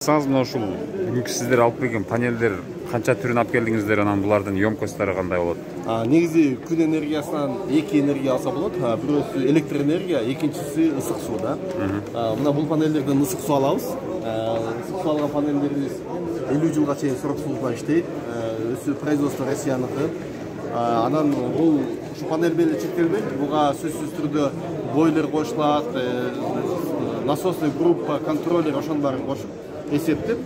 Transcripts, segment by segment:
Мына ушул бүгүнкү сиздер алып келген панелдер канча түрүн алып келдиңиздер, анан булардын емкосттары кандай болот? Негизи күн энергиясынан эки энергия алса болот. Бирөөсү электр энергия, экинчиси ысык суу да. Мына бул панелдерден ысык суу алабыз. Ысык суу алган панелдерибиз 50 жылга чейин срок служба иштейт. Өзү производство Россияныкы. Анан бул ушу панель менен чектелбейт. Буга сөзсүз түрдө бойлер коюшулат, насосный группа, контроллер ошонун баарын кошуп эсептеп,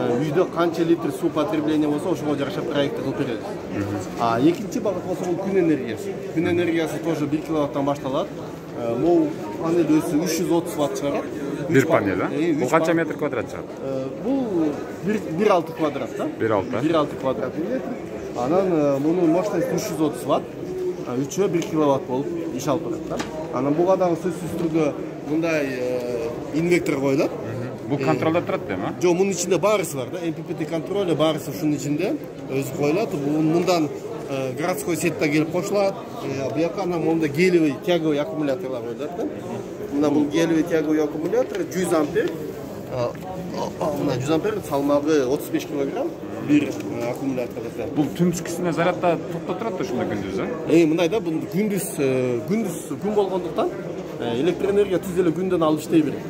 үйдө канча литр суу потребление болсо, ошого жараша проект кылып беребиз. Экинчи багыт болсо бул күн энергиясы. Күн энергиясы тоже 1 киловаттан башталат. Могу панель өзү 330 ватт чыгарат. Бир панель, бул канча метр квадрат чыгат? Бул 1,6 квадрат да. 1,6 квадрат метр. Анан мунун мощности 330 ватт. 3-ө 1 киловатт болуп иш алып барат да. Анан буга дагы сөзсүз түрдө мындай инвектор коюлат. Бул контролдо турат эми? Жок, мунун ичинде баарысы бар да. MPPT контроль баарысы ушунун ичинде өзү коюлат. Мындан городской сетьте келип кошулат. Буяка анан монда гелевый тяговый аккумуляторлар коюлат да. Мына бул гелевый тяговый аккумулятор 100 ампер. Мына 100 ампер салмагы 35 килограмм бир аккумулятор. Бул түнкүсүнө зарядда токтоп турат да ушунда күндүз, мындай да, бул күндүз күн болгондуктан электр энергия түз эле күндөн алып иштей берет.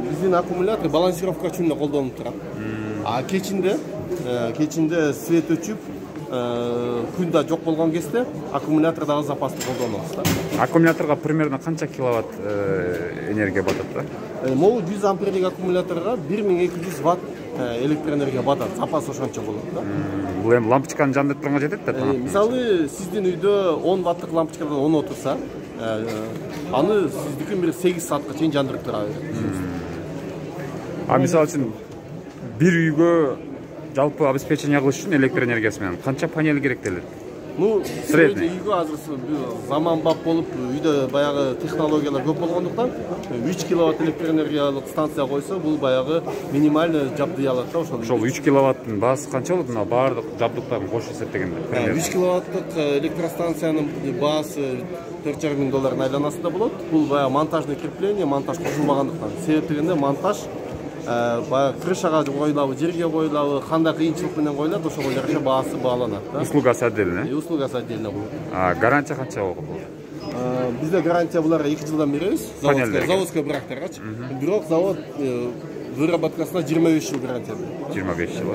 Биздин аккумулятор балансировка үчүн эле колдонулуп турат. Кечинде свет өчүп, күн да жок болгон кезде аккумулятор дагы запасты колдонобуз да. Аккумуляторго примерно канча киловатт энергия батат да? Могу 100 амперлик аккумуляторго 1200 ватт электр энергия батат. Запас ошончо болот да. Бул эми лампочканы жандырып турганга жетет да? Мисалы, сиздин үйдө 10 ватттык лампочкадан 10 отурса, аны сиздикин бир 8 саатка чейин жандырып тура берет. Мисалы үчүн бир үйгө жалпы обеспечение кылыш үчүн электр энергиясы менен канча панель керектелет? Средний үйгө азыр заманбап болуп, үйдө баягы технологиялар көп болгондуктан 3 киловатт электр энергиялык станция койсо, бул баягы минимальный жабдый алат да ошол. Ошол 3 киловаттын баасы канча болот? Мына баардык жабдыктарын кошуп эсептегенде. 3 киловаттык электростанциянын баасы $4,500 айланасында болот. Бул баягы монтажный крепление, монтаж кошулбагандыктан. Себеп дегенде монтаж крышага коюлабы, жерге коюлабы, кандай кыйынчылык менен коюлат, ошого жараша баасы бааланат да. Услугасы отдельно. Услугасы отдельно болот. Гарантия канча болот? Бизде гарантия буларга 2 жылдан беребиз. Заводской брактаргачы. Бирок завод выработкасына 25 жыл гарантия берет. 25 жыл.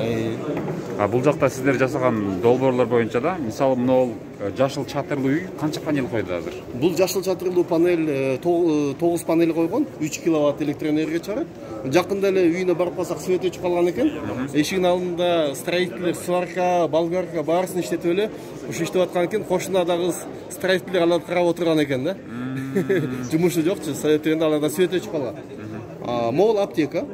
Бул жакта сиздер жасаган долбоорлор боюнча да, мисалы могул жашыл чатырлуу үй канча панель койду азыр? Бул жашыл чатырлуу панель 9 панель койгон, 3 киловатт электр энергия чыгарат. Жакында эле үйүнө барып калсак, свет өчүп калган экен. Эшигинин алдында строителдер сварка, болгарка баарысын иштетип эле ушу иштеп аткан экен. Кошуна дагы строителдер аларды карап отурган экен да. Жумушу жокчу, совет дегенде аларда свет өчүп калган. Могул аптека.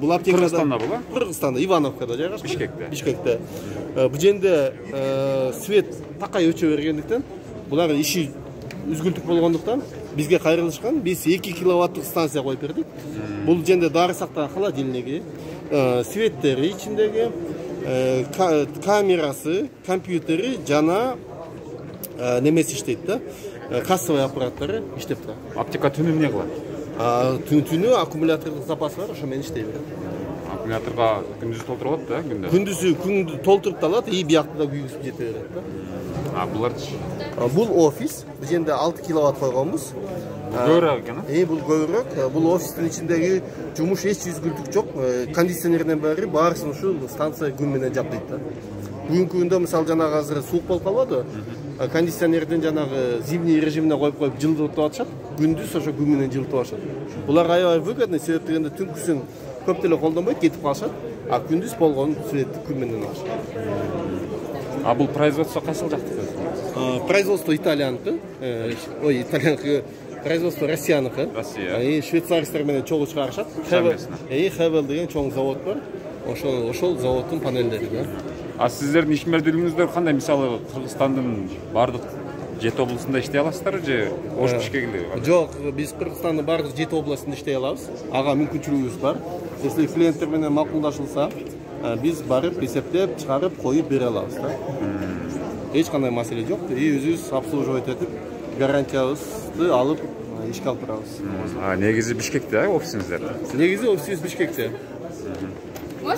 Бул аптека Кыргызстанда бул? Кыргызстанда, Ивановкада жайгашкан. Бишкекте. Бул жерде свет такай өчө бергендиктен, булар иши үзгүлтүк болгондуктан бизге кайрылышкан. Биз 2 киловатттык станция коюп бердик. Бул жерде дары сактаган холодильниги, светтери ичиндеги, камерасы, компьютери жана немеси иштейт да. Кассовый аппараттары иштеп турат. Аптека түнү эмне кылат? Түнү аккумулятордук запасы бар, ошо менен иштей берет. Аккумуляторго күндүз толтуруп алат да, күндө? Күндүзү толтуруп да алат, биякты да күйгүзүп жете берет да. Буларчы? Бул офис, бул жерде 6 киловатт койгонбуз. Көбүрөөк экен, бул көбүрөөк. Бул офистин ичиндеги жумуш эч үзгүлтүк жок. Кондиционерден баарысын ушу станция күн менен жабдайт да. Бүгүнкү күндө мисалы жанагы азыр суук болуп калбады. Кондиционерден жанагы зимний режимине коюп жылытып атышат. Күндүз ошо күн менен жылытып атышат. Булар аябай выгодный, себеп дегенде түнкүсүн көп деле колдонбойт, кетип калышат. Күндүз болгон светти күн менен алышат. Бул производство кайсыл жактыкы? Производство Италияныкы. Италияныкы. Производство Россияныкы. Россия. Швейцаристер менен чогуу чыгарышат. Хевел деген чоң завод бар. Ошол заводдун панелдери да. Сиздердин ишмердүүлүгүңүздөр кандай? Мисалы Кыргызстандын бардык 7 областында иштей аласыздарбы же Ош Бишкекте? Жок, биз Кыргызстандын бардык 7 областында иштей алабыз. Ага мүмкүнчүлүгүбүз бар. Если клиенттер менен макулдашылса, биз барып эсептеп, чыгарып, коюп бере алабыз да. Эч кандай маселе жок. Өзүбүз обслуживать этип, гарантиябызды алып ишке алып турабыз. Негизи Бишкекте офисиңиздер? Негизи офисибиз Бишкекте.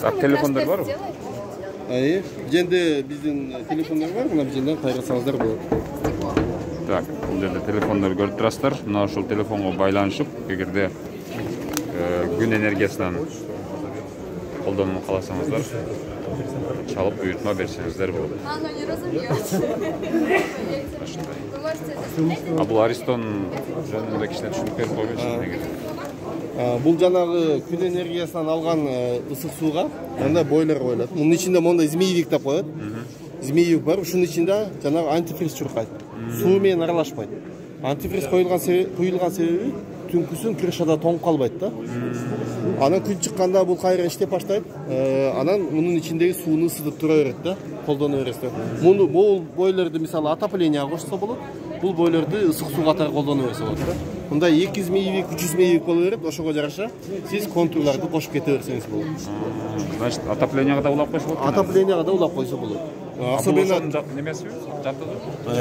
Так, телефондар барбы? Жерде биздин телефондар бар, мына бул жерден кайрасаңыздар болот. Так, бул жерде телефондар көрүп турасыздар. Мына ушул телефонго байланышып, эгерде күн энергиясынан колдонууну кааласаңыздар, чалып буйртма берсеңиздер болот. А бул Аристон жөнүндө кичине түшүнүп берип койбойсузбу? Бул жанагы күн энергиясынан алган ысык сууга анда бойлер коюлат. Мунун ичинде мондай змеевик деп коет. Змеевик бар, ушунун ичинде жанагы антифриз чуркайт. Суу менен аралашпайт. Антифриз куюлган себеби түнкүсүн крышада тоңуп калбайт да. Анан күн чыкканда бул кайра иштеп баштайт. Анан мунун ичиндеги сууну ысытып тура берет да, колдоно бересиз. Бул бойлерди мисалы отоплениега кошсо болот. Бул бойлерди ысык суу катары колдоно берсе болот да. Мындай 200 змеевик, 300 змеевик боло берет, ошого жараша сиз контурларды кошуп кете берсеңиз болот. Значит, отоплениега да улап койсо болот. Отоплениега да улап койсо болот. Особенно немеси жатты?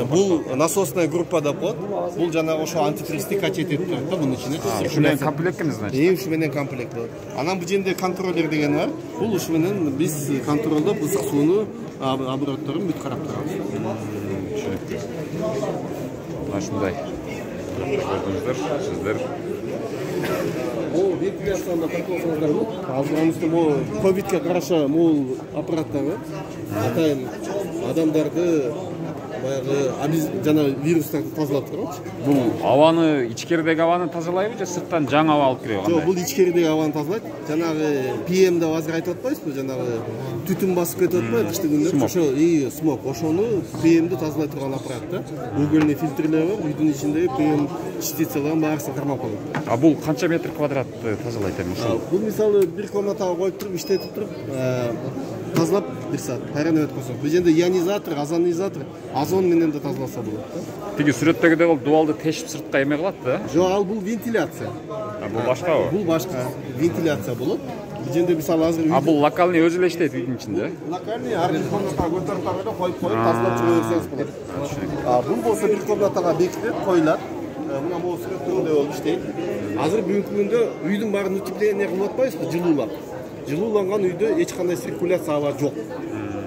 Бул насосная группа деп коет. Бул жанагы ошо антифристи качет этип турат да бунун ичине. Ушу менен комплект экен, значит. Ушу менен комплект болот. Анан бул жерде контроллер деген бар. Бул ушу менен биз контролдоп ысык сууну оборотторун бүт карап турабыз. Түшүнүктүү. Мына ушундай. Көрдүңүздөр, сиздер. Бул вентиляцияны тартып болсоңуздар, азыркы бул ковидке караша бул аппараттар атайын адамдарды баягы жана вирустарды тазалап турат. Бул абаны, ичкеридеги абаны тазалайбы же сырттан жаңы аба алып кирби? Жок, бул ичкеридеги абаны тазалайт. Жанагы PM деп азыр айтып атпайсызбы? Жанагы түтүн басып кетип атпайбы кышты күндөрү? Ошо смог, ошону PM-ди тазалай турган аппарат да. Угольный фильтрлер бар, үйдүн ичиндеги PM частицаларын баарысын кармап алат. А бул канча метр квадратты тазалайт эми ушул? Бул мисалы бир комнатага коюп туруп, иштетип туруп, тазалап бир саат кайрана өткөзсөк. Бул жерде ионизатор, озонизатор, озон менен да тазаласа болот да. Тиги сүрөттөгүдөй болуп дубалды тешип сыртка эме кылат да? Жок, ал бул вентиляция. Бул башкабы? Бул башка, вентиляция болот. Бул жерде мисалы азыр А бул локальный өзү эле иштейт үйдүн ичинде? Локальный ар бир комнатага көтөрүп тагып коюп тазалап чыга берсеңиз болот. Бул болсо бир комнатага бекитилет, коюлат. Мына бул сүрөттөгүдөй болуп иштейт. Азыр бүгүнкү күндө үйдүн баарын утепление кылып атпайбызбы, жылуулап. Жылууланган үйдө эч кандай циркуляция аба жок.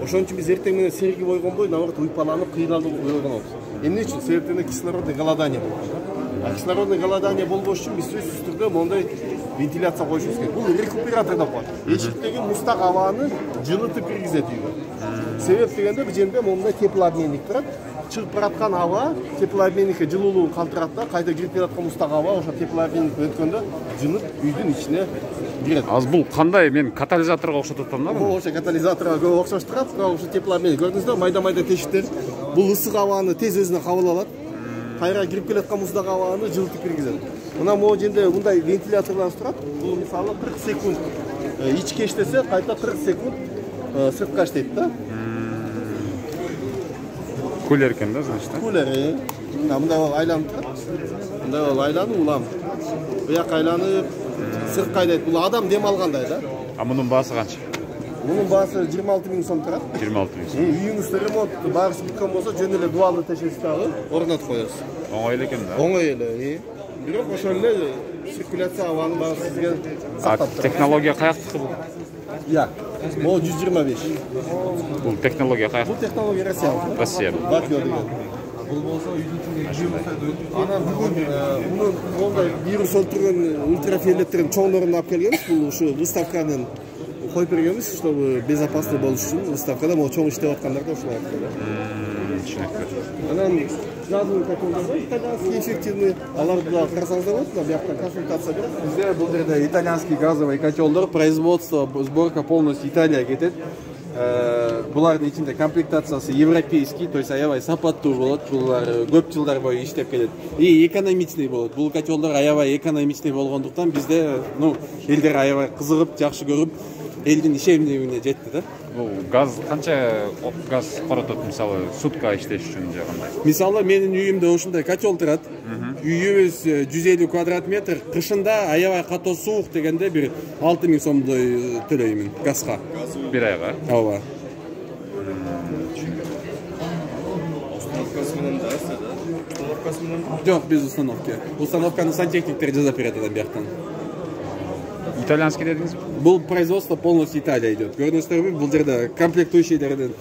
Ошон үчүн биз эртең менен серги бойгонбой, наоборот, уйпаланып, кыйналып ойгонобуз. Эмне үчүн? Себептен кислородный голодание болот. Кислородный голодание болбош үчүн биз сөзсүз түрдө мондай вентиляция коюшубуз керек. Бул рекуператор деп коет. Эшиктеги мустак абаны жылытып киргизет үйгө. Себеп дегенде бул жерде мондай теплообменник турат. Чыгып бараткан аба теплообменникке жылуулугун калтырат да, кайта кирип келаткан мустак аба ошо теплообменникке өткөндө жынып үйдүн ичине кирет. Аз бул кандай? Мен катализаторго окшотуп атам да. Ошо катализаторго көп окшош турат, бирок ошо теплообменник көрдүңүздөрбү, майда-майда тешиктер. Бул ысык абаны тез өзүнө кабыл алат. Кайра кирип келаткан мустак абаны жылытып киргизет. Мына могу жерде мындай вентиляторлар турат. Бул мисалы 40 секунд ичке иштесе, кайта 40 секунд сыртка иштейт да. Кулер экен да, значит. Кулер. Мындай болуп айланып турат. Мындай болуп айланып улам. Буяк айланып сыртка айдайт. Бул адам дем алгандай да. А мунун баасы канча? Мунун баасы 26 000 сом турат. 26 000 сом. Үйүңүздө ремонт баарысы бүткөн болсо, жөн эле дуалды тешесиз дагы орнотуп коесуз. Оңой эле экен да. Оңой эле. Бирок ошол эле циркуляция абанын баарын сизге сактап турат. Технология каяктыкы бул? Могу 125. Бул технология каяктыкы? Бул технология Россия. Батио деген. Бул болсо үйдүн ичинде анан бүгүн мунун мондай вирус өлтүргөн ультрафиолеттердин чоңдорун алып келгенбиз. Бул ушу выставканын коюп бергенбиз, чтобы безопасный болуш үчүн выставкада могу чоң иштеп аткандарда ушулай алып. Түшүнүктүү. Анан газовый котелдер бар, итальянский эффективный. Аларды да карасаңыздар болот, мына бияктан консультация берет. Бизде бул жерде итальянский газовый котелдор, производство, сборка полностью Италия кетет. Булардын ичинде комплектациясы европейский, то есть аябай сапаттуу болот. Булар көп жылдар бою иштеп келет. И экономичный болот. Бул котелдор аябай экономичный болгондуктан бизде, элдер аябай кызыгып, жакшы көрүп, элдин ишенимдүүлүгүнө жетти да. Бул газ канча газ коротот мисалы сутка иштеш үчүн же кандай? Мисалы менин үйүмдө ушундай котел турат. Үйүбүз 150 квадрат метр. Кышында аябай катуу суук дегенде бир 6 000 сомдой төлөймүн газга. Бир айга? Ооба. Установкасы менен да, установкасы менен. Жок, без установки. Установканы сантехниктер жасап берет анан бияктан. Итальянский дедиңизби? Бул производство полностью Италия идет. Көрдүңүздөрбү, бул жерде комплектующийлерден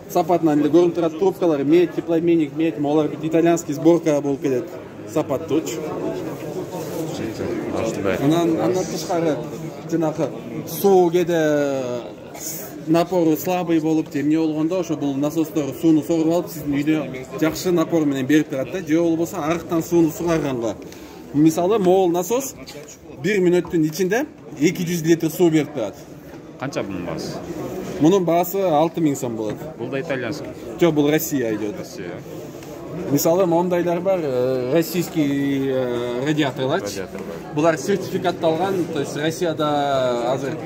сапатынан эле көрүнүп турат, трубкалар медь, теплообменник медь, алар бүт итальянский сборка болуп келет. Сапат туч. Андан тышкары жанагы суу кээде напору слабый болуп же эмне болгондо ошо бул насостор сууну соргуп алып сиздин үйдө жакшы напор менен берип турат да. Же болбосо арыктан сууну сугарганга. Мисалы, могул насос 1 мүнөттүн ичинде 200 литр суу берип турат. Канча мунун баасы? Мунун баасы 6000 сом болот. Бул да итальянский. Жок, бул Россия идет. Россия. Мисалы, мондайлар бар, российский радиаторлар. Булар сертификатталган, то есть Россияда азыр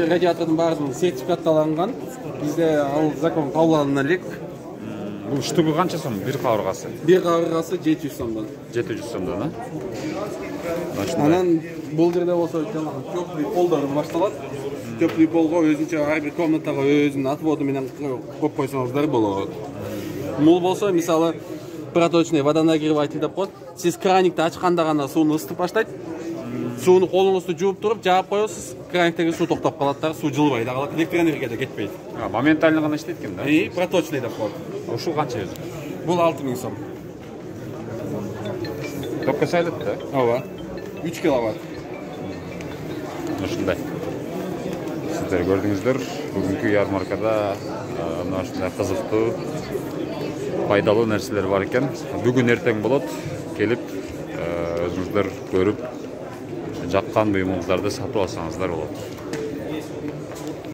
радиатордун баардыгы сертификатталган. Бизде ал закон кабыл алына элек. Бул штугу канча сом? Бир кабыргасы. Бир кабыргасы 700 сомдон. 700 сомдон, Анан бул жерде болсо жанагы теплый полдор башталат. Теплый полго өзүнчө ар бир комнатага өзүнүн отводу менен коюп койсоңуздар болот. Бул болсо, мисалы, проточный водонагреватель деп коет. Сиз краникти ачканда гана сууну ысытып баштайт. Сууну колуңузду жууп туруп, жаап коесуз, краниктеги суу токтоп калат да, суу жылбай да калат, электроэнергия да кетпейт. Моментально гана иштейт экен да? Проточный деп коет. Ушул канча өзү? Бул 6000 сом. Токко сайлат да? Ооба. 3 киловатт. Ушундай. Сиздер көрдүңүздөр, бүгүнкү ярмаркада мына ушундай кызыктуу, пайдалуу нерселер бар экен. Бүгүн эртең болот, келип өзүңүздөр көрүп, жаккан буюмуңуздарды сатып алсаңыздар болот.